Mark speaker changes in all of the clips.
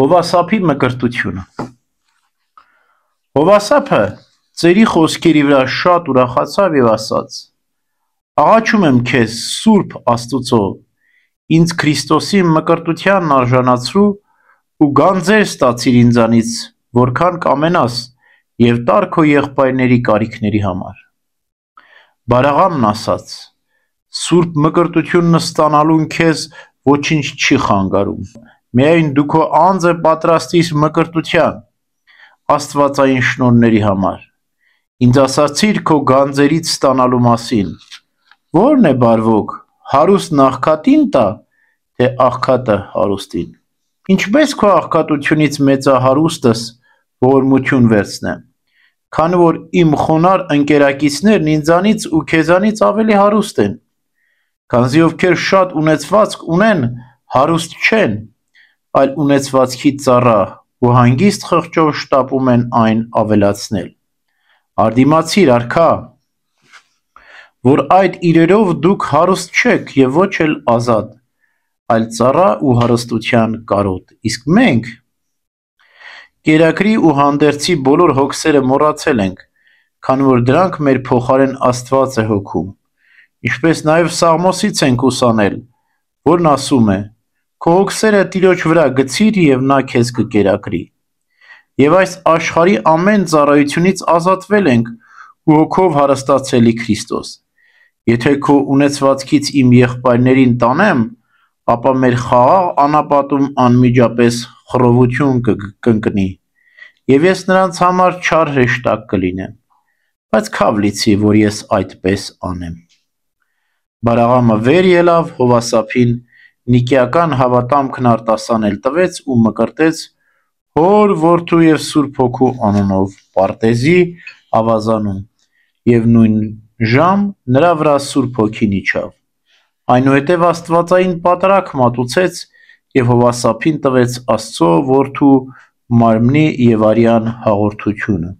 Speaker 1: Հովասափի մկրտությունը։ Հովասափը ծերի խոսքերի վրա շատ ուրախացավ եւ ասաց. «Աղաչում եմ քեզ, Սուրբ Աստուծո, ինձ Քրիստոսի մկրտությանն արժանացրու ու գանձեր ստացիր ինձանից, որքան կամենաս, եւ տար քո եղբայրների կարիքների համար»։ Բարաղամն ասաց. «Սուրբ մկրտությունն ստանալուն քեզ ոչինչ չի խանգարում, միայն դու քո անձը պատրաստիր մկրտության, աստվածային շնորհների համար։ Ինձ ասացիր քո գանձերից ստանալու մասին, ո՞րն է բարվոք, հարուստն աղքատին տա, թե աղքատը հարուստին։ Ինչպես քո աղքատությունից մեծահարուստս ողորմություն վերցնեմ, քանի որ իմ խոնարհ ընկերակիցներն ինձանից ու քեզանից ավելի հարուստ են, քանզի ովքեր շատ ունեցվածք ունեն, հարուստ չեն, այլ ունեցվածքի ծառա ու հանգիստ խղճով շտապում են այն ավելացնել։ Արդիմացիր, արքա, որ այդ իրերով դուք հարուստ չեք եւ ոչ էլ ազատ, այլ ծառա ու հարստության կարոտ, իսկ մենք կերակրի ու հանդերձի բոլոր հոգսերը մոռացել ենք, քանի որ դրանք մեր փոխարեն Աստված է հոգում, ինչպես նաև Սաղմոսից ենք ուսանել, որն ասում է. «Քո հոգսերը Տիրոջ վրա գցիր եւ նա քեզ կկերակրի»։ Եվ այս աշխարհի ամեն ծառայությունից ազատվել ենք ու հոգով հարստացել Քրիստոս։ Եթե քո ունեցվածքից իմ եղբայրներին տանեմ, ապա մեր խաղաղ անապատում անմիջապես խռովություն կընկնի, եւ ես նրանց համար չար հրեշտակ կլինեմ, բայց քավ լիցի, որ ես այդպես անեմ։ Բարաղամը վեր ելավ Հովասափին, Նիկեական հավատամքն արտասանել տվեց ու մկրտեց Հոր, Որդու եւ Սուրբ Հոգու անունով Պարտեզի ավազանում, եւ նույն ժամ նրա վրա Սուրբ Հոգին իջավ։ Այնուհետև աստվածային պատարագ մատուցեց եւ Հովասափին տվեց Աստծո Որդու մարմնի եւ արյան հաղորդությունը։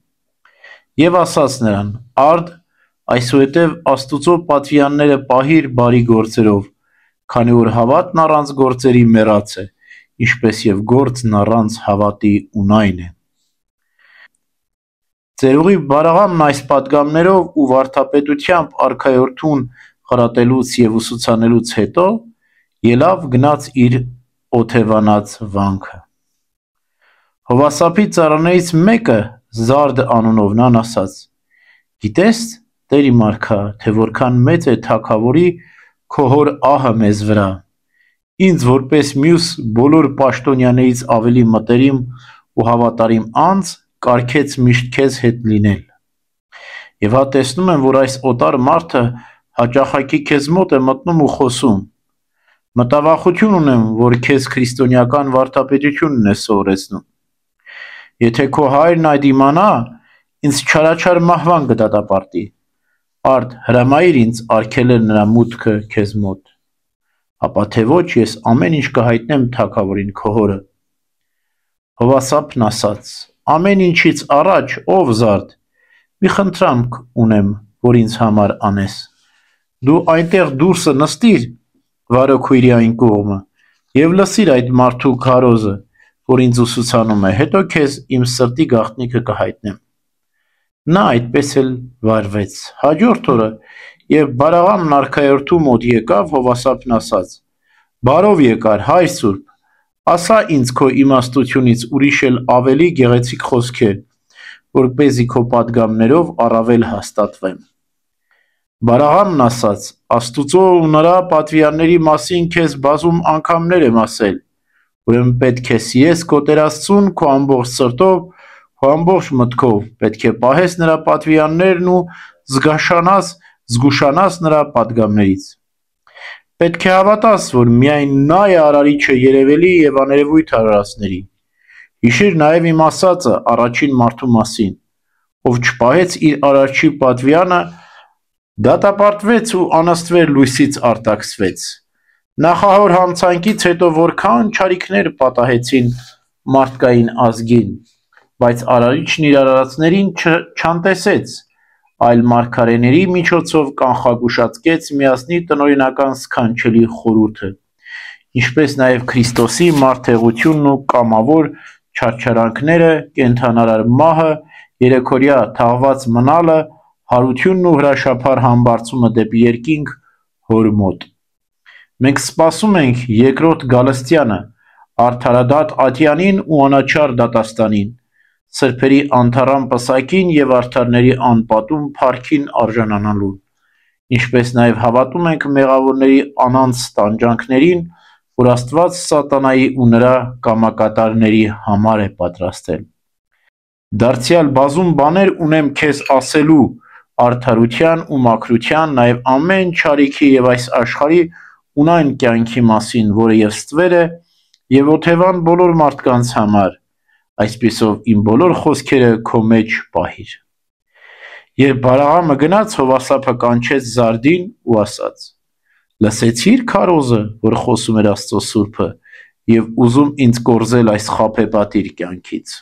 Speaker 1: Եվ ասաց նրան. «Արդ, այսուհետև Աստուծո պատվիրանները պահիր բարի գործերով, քանի որ հավատն առանց գործերի մեռած է, ինչպես եւ գործն առանց հավատի ունայն է»։ Ծերուղի Բարաղամն այս պատգամներով ու վարդապետությամբ արքայորդուն խրատելուց եւ ուսուցանելուց հետո ելավ գնաց իր օթևանած վանքը։ Հովասափի ծառաներից մեկը, Զարդ անունով, նրան ասաց. «Գիտես, Տեր իմ արքա, թե որքան մեծ է թագավորի քո հոր ահը մեզ վրա, ինձ որպես մյուս բոլոր պաշտոնյաներից ավելի մտերիմ ու հավատարիմ անձ կարգեց միշտ քեզ հետ լինել։ Եվ հա տեսնում եմ, որ այս օտար մարդը հաճախակի քեզ մոտ է մտնում ու խոսում։ Մտավախություն ունեմ, որ քեզ քրիստոնեական վարդապետությունն է սովորեցնում։ Եթե քո հայրն այդ իմանա, ինձ չարաչար մահվան կդատապարտի։ Արդ, հրամայիր ինձ արգելել նրա մուտքը քեզ մոտ, ապա թե ոչ ես ամեն ինչ կհայտնեմ թագավորին քո հորը»։ Հովասափն ասաց. «Ամեն ինչից առաջ, ով Զարդ, մի խնդրանք ունեմ, որ ինձ համար անես։ Դու այնտեղ դուրսը նստիր վարոքույրի այն կողմը եւ լսիր այդ մարդու քարոզը, որ ինձ ուսուցանում է, հետո քեզ իմ սրտի գաղտնիքը կհայտնեմ»։ Նա այդպես էլ վարվեց։ Հաջորդ օրը, երբ Բարաղամն արքայորդու մոտ եկավ, Հովասափն ասաց. «Բարով եկար, հայր Սուրբ, ասա ինձ քո իմաստությունից ուրիշ էլ ավելի գեղեցիկ խոսքեր, որպեսզի քո պատգամներով առավել հաստատվեմ»։ Բարաղամն ասաց. «Աստուծո ու նրա պատվիրանների մասին քեզ բազում անգամներ եմ ասել, ուրեմն պետք է սիրես քո Տեր Աստծուն քո ամբողջ սրտով, քո ամբողջ մտքով, պետք է պահես նրա պատվիրաններն ու զգուշանաս նրա պատգամներից։ Պետք է հավատաս, որ միայն նա է արարիչը երևելի եւ աներևույթ արարածների։ Հիշիր նաեւ իմ ասածը առաջին մարդու մասին, ով չպահեց իր արարչի պատվիրանը, դատապարտվեց ու անաստվեր լույսից արտաքսվեց։ Նախահոր համցանքից հետո որքան չարիքներ պատահեցին մարդկային ազգին, բայց արարիչն իր արարածներին չանտեսեց, այլ մարգարեների միջոցով կանխագուշացկեց միասնի տնօրինական սքանչելի խորհուրդը ինչպես նաև Քրիստոսի մարդեղությունն ու կամավոր չարչարանքները, կենդանարար մահը, երեքօրյա թաղված մնալը, հարությունն ու հրաշափառ համբարձումը դեպի երկինք հոր մոտ։ Մենք սպասում ենք երկրորդ Գալստյանը, արդարադատ Ատյանին ու անաչառ դատաստանին, սրբերի անթառամ պսակին և արդարների անպատում փառքին արժանանալուն, ինչպես նաև հավատում ենք մեղավորների անանց տանջանքներին, որ Աստված սատանայի ու նրա կամակատարների համար է պատրաստել։ Դարձյալ բազում բաներ ունեմ քեզ ասելու արդարության ու մաքրության, նաև ամեն չարիքի և այս աշխարհի ունայն կյանքի մասին, որը և ստվեր է, և օթևան բոլոր մարդկանց համար, այսպիսով իմ բոլոր խոսքերը քո մեջ պահիր։ Երբ Բալաղամը գնաց, Հովասափը կանչեց Զարդին ու ասաց. «Լսեցի՞ր քարոզը, որ խոսում էր Աստծո սուրբը, և ուզում ինձ կորզել այս խաբեբատիր կյանքից»։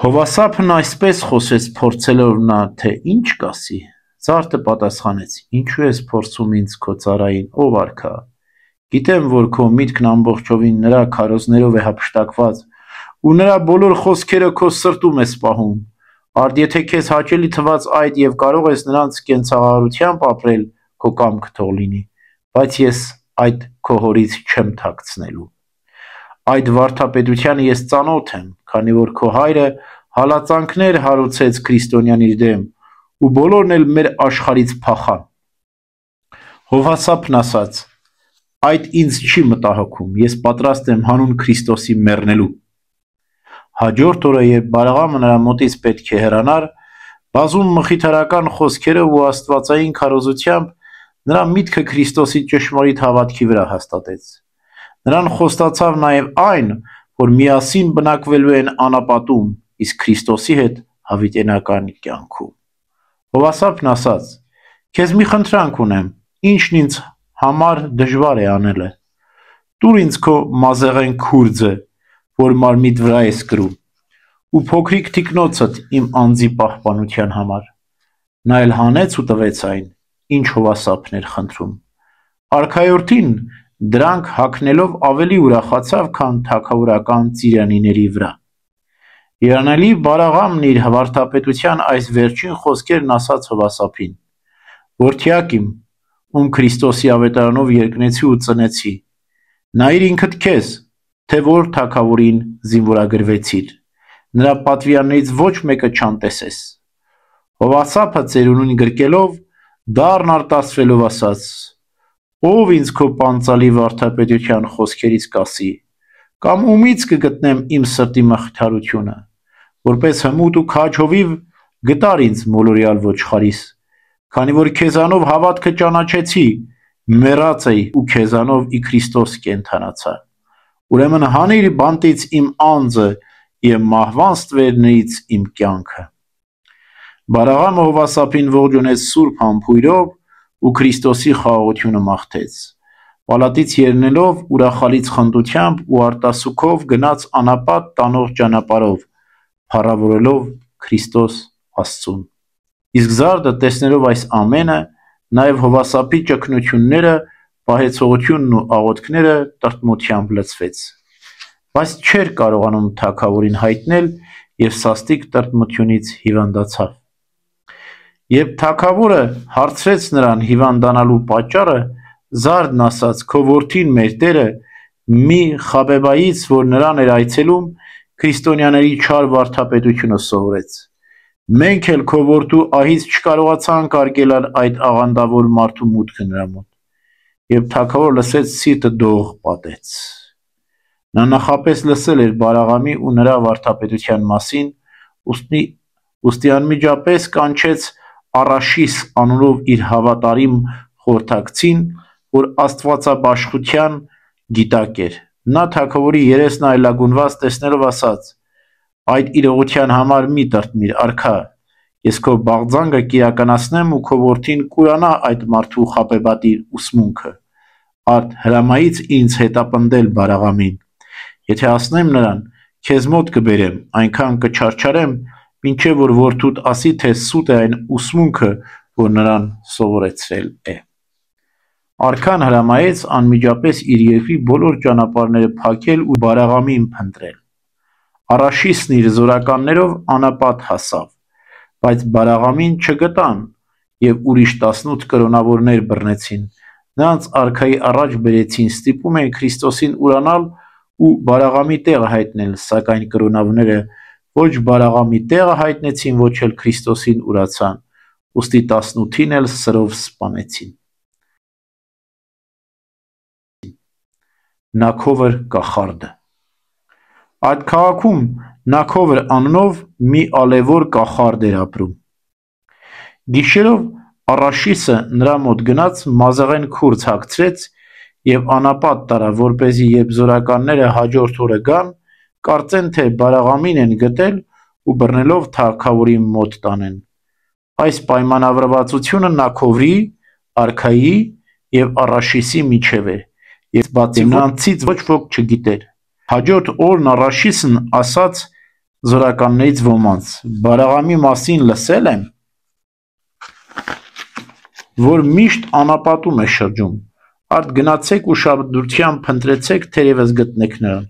Speaker 1: Հովասափն այսպես խոսեց փորձելով նա, թե ինչ կասի։ Զարդը պատասխանեց. «Ինչու ես փորձում ինձ քո ծառային, ով արքա։ Գիտեմ, որ քո միտքն ամբողջովին նրա քարոզներով է հափշտակված, ու նրա բոլոր խոսքերը քո սրտում ես պահում։ Արդ եթե քեզ հաճելի թված այդ և կարող ես նրանց կենցաղարությամբ ապրել, քո կամքը թող լինի, բայց ես այդ քո հորից չեմ թաքցնելու։ Այդ վարդապետությանը ես ծանոթ եմ, քանի որ քո հայրը հալածանքներ հարուցեց քրիստոնյան իր դեմ, ու բոլորն էլ մեր աշխարհից փախան»։ Հովասափն ասաց. «Այդ ինձ չի մտահոգում, ես պատրաստ եմ հանուն Քրիստոսի մեռնելու»։ Հաջորդ օրը, երբ Բալաղամը նրա մոտից պետք է հեռանար, բազում մխիթարական խոսքերով ու աստվածային քարոզությամբ նրա միտքը Քրիստոսի ճշմարիտ հավատքի վրա հաստատեց։ Նրան խոստացավ նաև այն, որ միասին բնակվելու են անապատում, իսկ Քրիստոսի հետ հավիտենական կյանքում։ Հովասափն ասաց. «Քեզ մի խնդրանք ունեմ, ինչն ինձ համար դժվար է անելը։ Տուր ինձ քո մազեղեն քուրձը, որ մարմիդ վրա ես կրում, ու փոքրիկ թիկնոցդ իմ անձի պահպանության համար»։ Նա էլ հանեց ու տվեց այն, ինչ Հովասափն էր խնդրում։ Արքայորդին դրանք հագնելով ավելի ուրախացավ, քան թագավորական ծիրանիների վրա։ Երանելի Բալաղամն իր վարդապետության այս վերջին խոսքերն ասաց Հովասափին. «Որդյակ իմ, ում Քրիստոսի ավետարանով երկնեցի ու ծնեցի, նայիր ինքդ քեզ, թե որ թագավորին զինվորագրվեցիր, նրա պատվիրաններից ոչ մեկը չանտեսես»։ Հովասափը ծերունին գրկելով, դառն արտասվելով ասաց. «Ո՞վ ինձ քո պանծալի վարդապետության խոսքերից կասի, կամ ումից կգտնեմ իմ սրտի մխիթարությունը, որպես հմուտ ու քաջ հովիվ գտար ինձ մոլորյալ ոչխարիս, քանի որ քեզանով հավատքը ճանաչեցի, մեռած էի ու քեզանով ի Քրիստոս կենդանացա։ Ուրեմն հանիր բանտից իմ անձը և մահվան ստվերներից իմ կյանքը»։ Բալաղամը Հովասափին ողջունեց սուրբ համբույրով ու Քրիստոսի խաղաղությունը մաղթեց։ Պալատից ելնելով ուրախալից խնդությամբ ու արտասուքով գնաց անապատ տանող ճանապարհով, փառավորելով Քրիստոս Աստծուն։ Իսկ Զարդը տեսնելով այս ամենը, նաև Հովասափի ճգնությունները, պահեցողությունն ու աղոթքները տրտմությամբ լցվեց, բայց չէր կարողանում թագավորին հայտնել և սաստիկ տրտմությունից հիվանդացավ։ Երբ թագավորը հարցրեց նրան հիվանդանալու պատճառը, Զարդն ասաց. «Քո որդին մեր Տերը մի խաբեբայից, որ նրան էր այցելում, քրիստոնյաների չար վարդապետությունը սովորեց։ Մենք էլ քո որդու ահից չկարողացանք արգելալ այդ աղանդավոր մարդու մուտքը նրա մոտ»։ Երբ թագավորը լսեց, սիրտը դող պատեց։ Նա նախապես լսել էր Բալաղամի ու նրա վարդապետության մասին, ուստի անմիջապես կանչեց Առաշիս անունով իր հավատարիմ խորհրդակցին, որ աստվածաբաշխության գիտակ էր։ Նա թագավորի երեսն այլագունված տեսնելով ասաց. «Այդ իրողության համար մի տրտմիր, արքա, ես քո բաղձանքը կիրականացնեմ ու քո որդին կուրանա այդ մարդու խաբեբատիր ուսմունքը։ Արդ հրամայից ինձ հետապնդել Բալաղամին։ Եթե ասնեմ նրան, քեզ մոտ կբերեմ, այնքան կչարչարեմ, մինչև որ որդուդ ասի, թե սուտ է այն ուսմունքը, որ նրան սովորեցրել է»։ Արքան հրամայեց անմիջապես իր երկրի բոլոր ճանապարհները փակել ու Բարաղամին փնտրել։ Արաշիսն իր զորականներով անապատ հասավ, բայց Բարաղամին չգտան և ուրիշ 18 կրոնավորներ բռնեցին, նրանց արքայի առաջ բերեցին, ստիպում էին Քրիստոսին ուրանալ ու Բարաղամի տեղը հայտնել, սակայն կրոնավորները ոչ Բարաղամի տեղը հայտնեցին, ոչ էլ Քրիստոսին ուրացան, ուստի 18-ին էլ սրով սպանեցին։ Նաքովր կախարդը։ Այդ քաղաքում Նաքովր անունով մի ալևոր կախարդ էր ապրում։ Գիշերով Արաշիսը նրա մոտ գնաց, մազեղեն քուրձ հագցրեց և անապատ տարավ, որպեսզի երբ զորականները հաջորդ օրը գան, կարծեն, թե Բարաղամին են գտել ու բռնելով թագավորի մոտ տանեն։ Այս պայմանավորվածությունը Նաքովրի, արքայի և Արաշիսի միջև էր, և բացի նրանցից ոչ ոք չգիտեր։ Հաջորդ օրն Արաշիսն ասաց զորականներից ոմանց. «Բարաղամի մասին լսել եմ, որ միշտ անապատում է շրջում, արդ գնացեք ու ուշադրությամբ փնտրեցեք, թերևս գտնեք նրան»։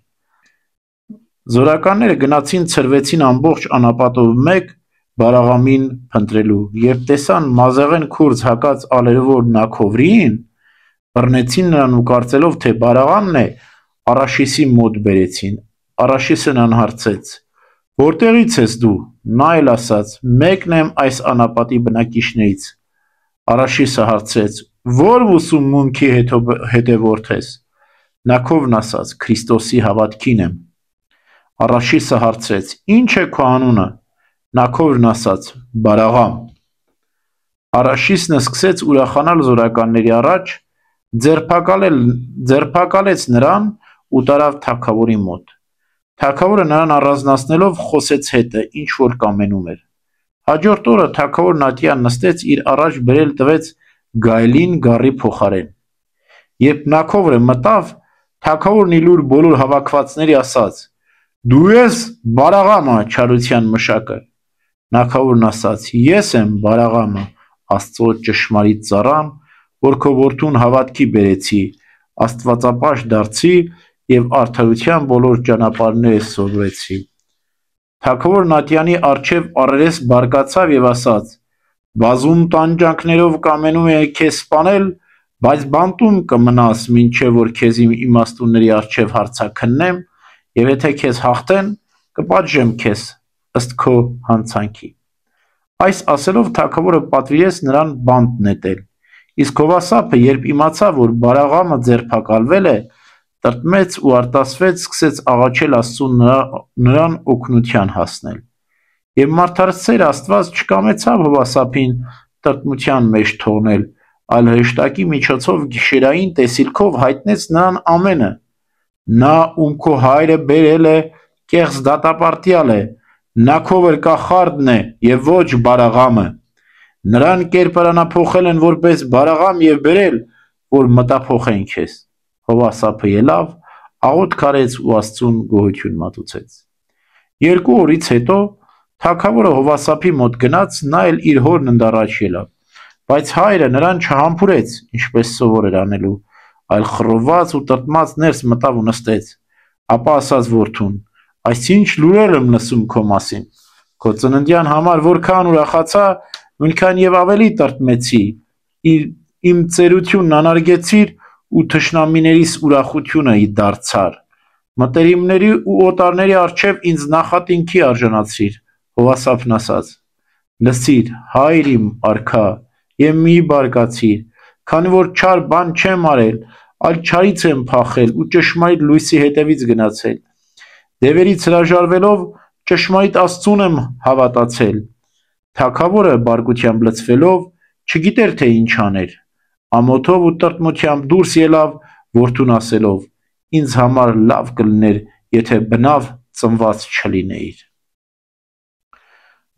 Speaker 1: Զորականները գնացին, ցրվեցին ամբողջ անապատով մեկ Բարաղամին փնտրելու, երբ տեսան մազեղեն քուրձ հագած ալևոր Նաքովրիին, բռնեցին նրան ու կարծելով, թե Բարաղամն է, Արաշիսի մոտ բերեցին։ Արաշիսը նրան հարցրեց. «Որտեղից ես դու»։ Նա էլ ասաց. «Մեկն եմ այս անապատի բնակիչներից»։ Արաշիսը հարցրեց. «Ո՞ր ուսումունքի հետևորդ ես»։ Նաքովրն ասաց. «Քրիստոսի հավատքին եմ»։ Արաշիսը հարցրեց. «Ի՞նչ է քո անունը»։ Նաքովրն ասաց. «Բարաղամ»։ Արաշիսն սկսեց ուրախանալ զորականների առաջ, ձերբակալեց նրան ու տարավ թագավորի մոտ։ Թագավորը նրան առանձնացնելով խոսեց հետը, ինչ որ կամենում էր։ Հաջորդ օրը թագավորն ատյան նստեց, իր առաջ բերել տվեց գայլին գառի փոխարեն։ Երբ Նաքովրը մտավ, թագավորն ի լուր բոլոր հավաքվածների ասաց. «Դու ես Բարաղամը, չարության մշակը»։ Նաքովրն ասաց. «Ես եմ Բարաղամը, Աստծո ճշմարիտ ծառան, որ քո որդուն հավատքի բերեցի, աստվածապաշտ դարձի և արդարության բոլոր ճանապարհները սովորեցի»։ Թագավորն ատյանի առջև առերես բարկացավ և ասաց. «Բազում տանջանքներով կամենում էի քեզ սպանել, բայց բանտում կմնաս, մինչև որ քեզ իմ իմաստունների առջև հարցաքննեմ, և եթե քեզ հաղթեն, կպատժեմ քեզ ըստ քո հանցանքի»։ Այս ասելով թագավորը պատվիրեց նրան բանտ նետել։ Իսկ հովասափը, երբ իմացավ, որ Բարաղամը ձերբակալվել է, տրտմեց ու արտասվեց, սկսեց աղաչել Աստծուն նրան օգնության հասնել։ Եվ մարդասեր Աստված չկամեցավ հովասափին տրտմության մեջ թողնել, այլ հրեշտակի միջոցով գիշերային տեսիլքով հայտնեց նրան ամենը։ Նա, ում քո հայրը բերել է, կեղծ դատապարտյալ է, Նաքովր կախարդն է և ոչ Բարաղամը։ Նրան կերպարանափոխել են որպես Բարաղամ և բերել, որ մտափոխեն քեզ։ Հովասափը ելավ, աղոթք արեց ու Աստծուն գոհություն մատուցեց։ 2 օրից հետո թագավորը հովասափի մոտ գնաց, նա էլ իր հորն ընդառաջ ելավ, բայց հայրը նրան չհամբուրեց, ինչպես սովոր էր անելու, այլ խռովված ու տրտմած ներս մտավ ու նստեց։ Ապա ասաց որդուն. «Այսինչ լուրեր եմ լսում քո մասին։ Քո ծննդյան համար որքան ուրախացա, նույնքան և ավելի տրտմեցի, իմ ծերությունն անարգեցիր ու թշնամիներիս ուրախությունը դարձար։ Մտերիմների ու օտարների առջև ինձ նախատինքի արժանացրիր»։ Հովասափն ասաց. «Լսիր, հայր իմ արքա, և մի բարկացիր, քանի որ չար բան չեմ արել, այլ չարից եմ փախել ու ճշմարիտ լույսի հետևից գնացել։ Դևերից հրաժարվելով ճշմարիտ Աստծուն եմ հավատացել»։ Թագավորը բարկությամբ լցվելով չգիտեր, թե ինչ աներ, ամոթով ու տրտմությամբ դուրս ելավ որդուն ասելով. «Ինձ համար լավ կլիներ, եթե բնավ ծնված չլինեիր»։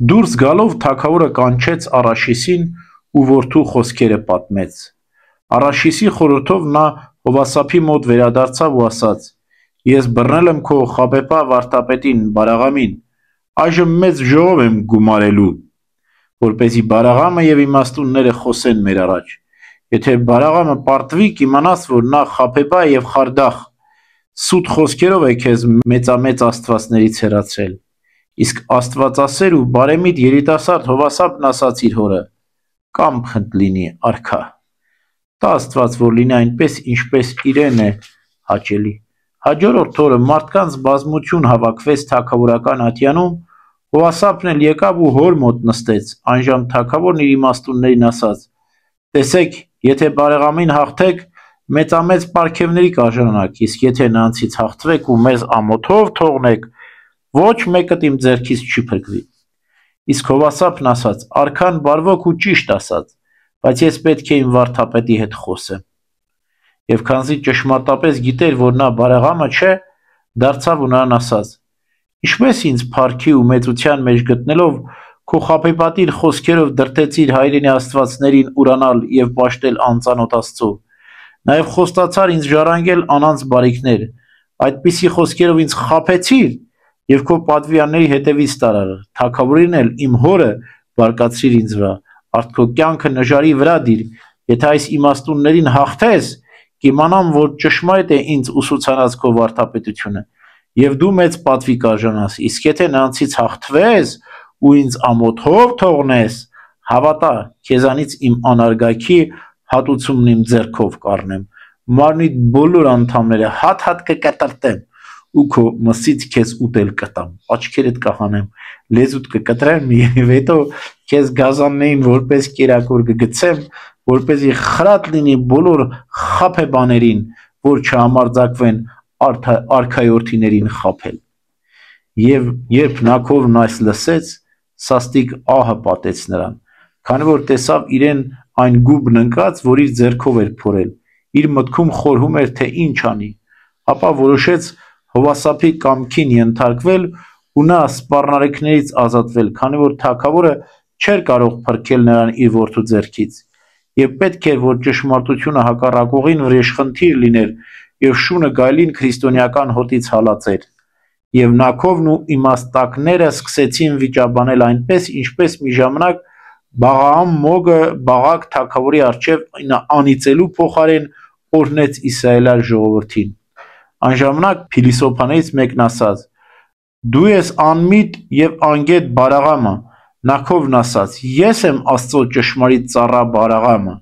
Speaker 1: Դուրս գալով թագավորը կանչեց Արաշիսին ու որդու խոսքերը պատմեց։ Արաշիսի խորհրդով նա հովասափի մոտ վերադարձավ ու ասաց. «Ես բռնել եմ քո խաբեբա վարդապետին Բարաղամին, այժմ մեծ ժողով եմ գումարելու, որպեսզի Բարաղամը և իմաստունները խոսեն մեր առաջ, Եթե բարաղամը պարտվի, կիմանաս, որ նա խաբեբա է և խարդախ, սուտ խոսքերով է քեզ մեծամեծ աստվածներից հեռացրել։ Իսկ աստվածասեր ու բարեմիտ երիտասարդ Հովասապն ասաց իր հորը. «Կամ խնդ լինի, արքա»։ Տա Աստված, որ լինի այնպես, ինչպես իրեն է հաճելի։ Հաջորդ օրը մարդկանց բազմություն հավաքվեց թագավորական ատյանում, Հովասապն էլ եկավ ու հոր մոտ նստեց, այնժամ թագավորն իր իմաստուններին ասաց. «Տեսեք, եթե բարեղամին հաղթեք, մեծամեծ պարգևների կարժանանաք, իսկ եթե նրանցից հաղթվեք ու մեզ ամոթով թողնեք, ոչ մեկդ իմ ձեռքից չի փրկվի»։ Իսկ Հովասապն ասաց. «Արքան բարվոք ու ճիշտ ասաց, բայց ես պետք է իմ վարդապետի հետ խոսեմ»։ Եվ քանզի ճշմարտապես գիտեր, որ նա բարեղամը չէ, դարձավ ու նրան ասաց. «Ինչպես ինձ փառքի ու մեծության մեջ գտնելով քո խաբեբատիր խոսքերով դրդեցիր հայրենի աստվածներին ուրանալ և պաշտել անծանոթ Աստծո, նաև խոստացար ինձ ժառանգել անանց բարիքներ, այդպիսի խոսքերով ինձ խաբեցիր և քո պատվիրանների հետևից տարար, թագավորին էլ իմ հորը բարկացրիր ինձ վրա, արդ քո կյանքը նժարի վրա դիր, եթե այս իմաստուններին հաղթես, կիմանամ, որ ճշմարիտ է ինձ ուսուցանած քո վարդապետությունը, և դու մեծ պատվի կարժանաս, իսկ եթե նրանցից հաղթվես ու ինձ ամոթով թողնես, հավատա, քեզանից իմ անարգաքի հատուցումն իմ ձեռքով կառնեմ, մարմնիդ բոլոր անդամները հատ-հատ կկտրտեմ ու քո մսից քեզ ուտել կտամ, աչքերդ կհանեմ, լեզուդ կկտրեմ և հետո քեզ գազաններին որպես կերակուր կգցեմ, որպեսզի խրատ լինի բոլոր խաբեբաներին, որ չհամարձակվեն արքայորդիներին խաբել»։ Եվ երբ Նաքովն այս լսեց, սաստիկ ահը պատեց նրան, քանի որ տեսավ իրեն այն գուբն ընկած, որ իր ձեռքով էր փորել, իր մտքում խորհում էր, թե ինչ անի, ապա որոշեց Հովասապի կամքին ենթարկվել ու նա սպառնալիքներից ազատվել, քանի որ թագավորը չէր կարող փրկել նրան իր որդու ձեռքից, և պետք էր, որ ճշմարտությունը հակառակողին վրեժխնդիր լիներ և շունը գայլին քրիստոնեական հոտից հալածեր։ Եվ Նաքովն ու իմաստակները սկսեցին վիճաբանել այնպես, ինչպես մի ժամանակ Բաղաամ մոգը Բաղակ թագավորի առջև անիծելու փոխարեն օրհնեց Իսրայելյալ ժողովրդին։ Այն ժամանակ փիլիսոփաներից մեկն ասաց. «Դու ես անմիտ և անգետ Բարաղամը»։ Նաքովն ասաց. «Ես եմ Աստծո ճշմարիտ ծառա Բարաղամը,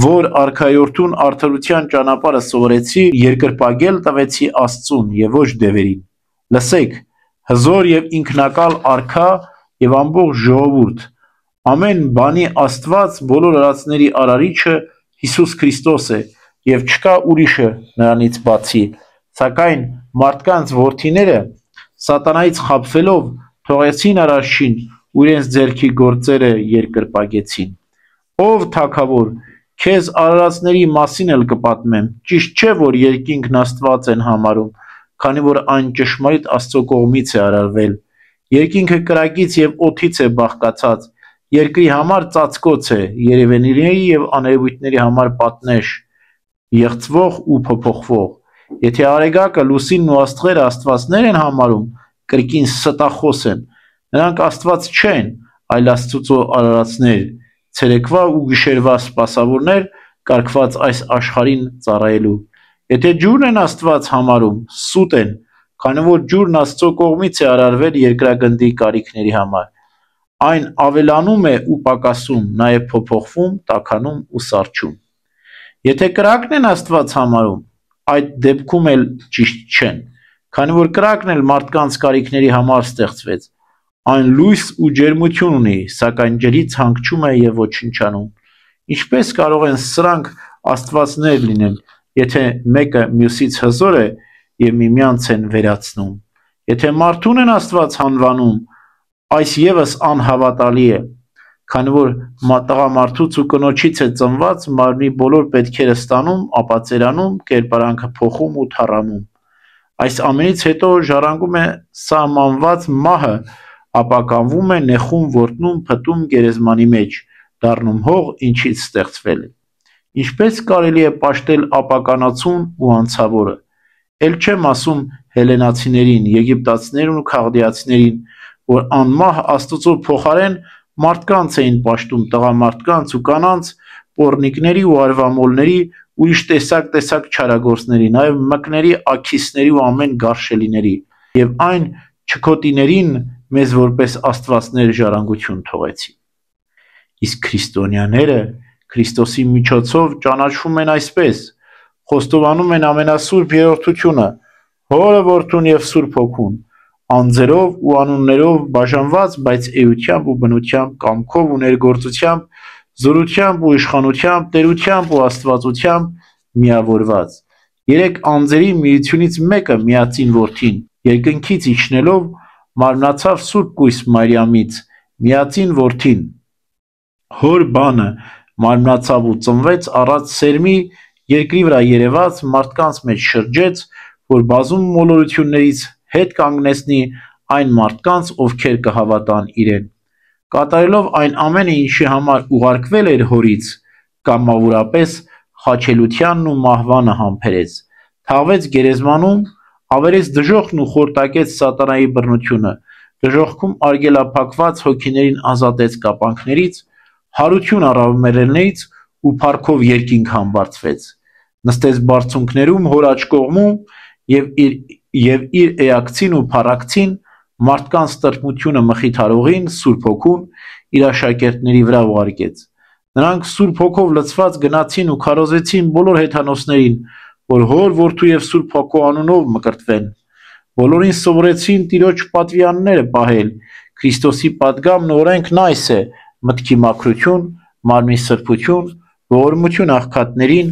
Speaker 1: որ արքայորդուն արդարության ճանապարհը սովորեցի, երկրպագել տվեցի Աստծուն և ոչ դևերին։ Լսեք, հզոր և ինքնակալ արքա և ամբողջ ժողովուրդ, ամեն բանի Աստված, բոլոր արածների արարիչը Հիսուս Քրիստոս է և չկա ուրիշը նրանից բացի, սակայն մարդկանց որդիները սատանայից խաբվելով թողեցին Արարչին ու իրենց ձեռքի գործերը երկրպագեցին։ Ով թագավոր, քեզ արարածների մասին էլ կպատմեմ, ճիշտ չէ, որ երկինքն Աստված են համարում, քանի որ այն ճշմարիտ Աստծո կողմից է արարվել։ Երկինքը կրակից և օդից է բաղկացած, երկրի համար ծածկոց է, երևույթների և աներևույթների համար պատնեշ, եղծվող ու փոփոխվող։ Եթե Արեգակը, լուսինն ու աստղերը աստվածներ են համարում, կրկին ստախոս են, նրանք Աստված չեն, այլ Աստծո արարածներ, ցերեկվա ու գիշերվա սպասավորներ, կարգված այս աշխարհին ծառայելու։ Եթե ջուրն են Աստված համարում, սուտ են, քանի որ ջուրն Աստծո կողմից է արարվել երկրագնդի կարիքների համար։ Այն ավելանում է ու պակասում, նաև փոփոխվում, տաքանում ու սառչում։ Եթե կրակն են Աստված համարում, այդ դեպքում էլ ճիշտ չեն, քանի որ կրակն էլ մարդկանց կարիքների համար ստեղծվեց։ Այն լույս ու ջերմություն ունի, սակայն ջրից հանգչում է և ոչնչանում։ Ինչպես կարող են սրանք աստվածներ լինել, եթե մեկը մյուսից հզոր է և միմյանց են վերացնում։ Եթե մարդուն են Աստված անվանում, այս ևս անհավատալի է, քանի որ տղամարդուց ու կնոջից է ծնված, մարմնի բոլոր պետքերը ստանում, ապածերանում, կերպարանքը փոխում ու թառամում։ Այս ամենից հետո ժառանգում է սահմանված մահը, ապականվում է, նեխում, որտնում, փտում գերեզմանի մեջ, դառնում հող, ինչից ստեղծվել է։ Ինչպես կարելի է պաշտել ապականացուն ու անցավորը։ Էլ չեմ ասում հելենացիներին, եգիպտացիներին ու քաղդիացիներին, որ անմահ Աստծո փոխարեն մարդկանց էին պաշտում, տղամարդկանց ու կանանց, պոռնիկների ու արվամոլների, ուրիշ տեսակ չարագործների, նաև մկների, աքիսների ու ամեն գարշելիների, եւ այն չքոտիներին մեզ որպես աստվածներ ժառանգություն թողեցին։ Իսկ քրիստոնյաները Քրիստոսի միջոցով ճանաչվում են այսպես, խոստովանում են ամենասուրբ երրորդությունը, Հորը, Որդուն եւ Սուրբ Հոգուն, անձերով ու անուններով բաժանված, բայց էությամբ ու բնությամբ, կամքով ու ներգործությամբ, զորությամբ ու իշխանությամբ, տերությամբ ու աստվածությամբ միավորված։ Երեք անձերի միությունից մեկը միածին Որդին, երկնքից իջնելով մարմնացավ Սուրբ Կույս Մարիամից, միածին Որդին, Հոր բանը մարմնացավ ու ծնվեց առած սերմի, երկրի վրա երևաց, մարդկանց մեջ շրջեց, որ բազում մոլորություններից հետ կանգնեցնի այն մարդկանց, ովքեր կհավատան իրեն, կատարելով այն ամենը, ինչի համար ուղարկվել էր Հորից, կամավորապես խաչելությանն ու մահվանը համբերեց, թաղվեց գերեզմանում, ավերեց դժոխքն ու խորտակեց սատանայի բռնությունը, դժոխքում արգելափակված հոգիներին ազատեց կապանքներից, հարություն առավ մեռելներից ու փառքով երկինք համբարձվեց, նստեց բարձունքներում Հոր աջ կողմում եւ իր էակցին ու փառակցին մարդկանց տրտմությունը մխիթարողին Սուրբ Հոգուն իր աշակերտների վրա ուղարկեց։ Նրանք Սուրբ Հոգով լցված գնացին ու քարոզեցին բոլոր հեթանոսներին, որ Հոր, Որդու եւ Սուրբ Հոգու անունով մկրտվեն։ Բոլորին սովորեցին Տիրոջ պատվիրանները պահել։ Քրիստոսի պատգամն ու օրենքն այս է. մտքի մաքրություն, մարմնի սրբություն, ողորմություն աղքատներին,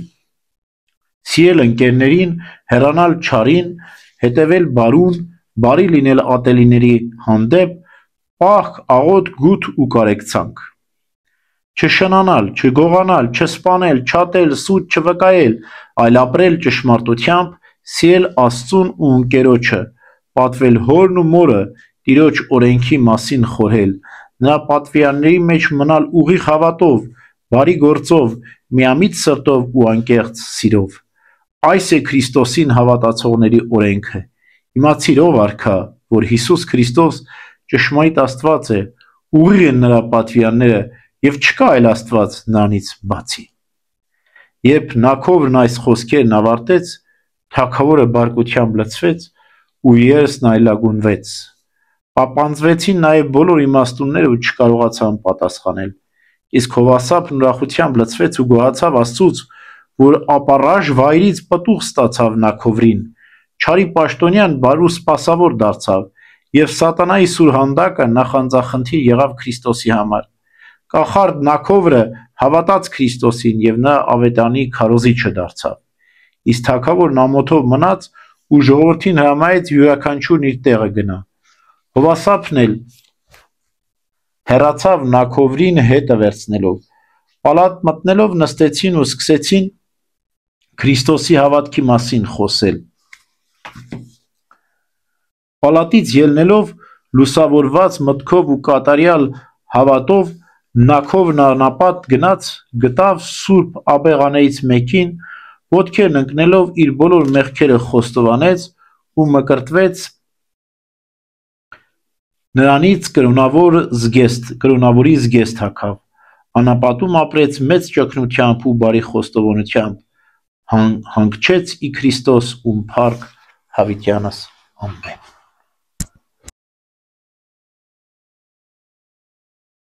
Speaker 1: սիրել ընկերներին, հեռանալ չարին, հետևել բարուն, բարի լինել ատելիների հանդեպ, պահք, աղոտ, գութ ու կարեկցանք։ Չշնանալ, չգողանալ, չսպանել, չատել, սուտ չվկայել, այլ ապրել ճշմարտությամբ, սիրել Աստծուն ու ընկերոջը, պատվել հորն ու մորը, Տիրոջ օրենքի մասին խորհել, նրա պատվիրանների մեջ մնալ ուղիղ հավատով, բարի գործով, միամիտ սրտով ու անկեղծ սիրով։ Այս է Քրիստոսին հավատացողների օրենքը։ Իմացիր ով արքա, որ Հիսուս Քրիստոս ճշմարիտ Աստված է, ուղիղ են նրա պատվիրանները եւ չկա այլ Աստված նրանից բացի։ Երբ Նաքովրն այս խոսքերն ավարտեց, թագավորը բարկությամբ լցվեց ու երեսն այլագունվեց։ Պապանձվեցին նաև բոլոր իմաստունները ու չկարողացան պատասխանել։ Իսկ Հովասապն ուրախությամբ լցվեց ու գոհացավ Աստծուց, որ ապառաժ վայրից պտուղ ստացավ Նաքովրին, չարի պաշտոնյան բարու սպասավոր դարձավ, եւ սատանայի սուրհանդակը նախանձախնդիր եղավ Քրիստոսի համար։ Կախարդ Նաքովրը հավատաց Քրիստոսին եւ նա ավետանի քարոզիչը դարձավ։ Իսկ թագավորն ամոթով մնաց ու ժողովրդին հրամայեց յուրաքանչյուրն իր տեղը գնա։ Հովասապն էլ հեռացավ Նաքովրին հետը վերցնելով։ Պալատ մտնելով նստեցին ու սկսեցին Քրիստոսի հավատքի մասին խոսել։ Պալատից ելնելով լուսավորված մտքով ու կատարյալ հավատով Նաքովրն անապատ գնաց, գտավ Սուրբ աբեղաներից մեկին, ոտքերն ընկնելով իր բոլոր մեղքերը խոստովանեց ու մկրտվեց նրանից կրոնավորի զգեստ հագավ, անապատում ապրեց մեծ ճգնությամբ ու բարի խոստովանությամբ, հանգչեց ի Քրիստոս ում փառք հավիտյանս ամեն։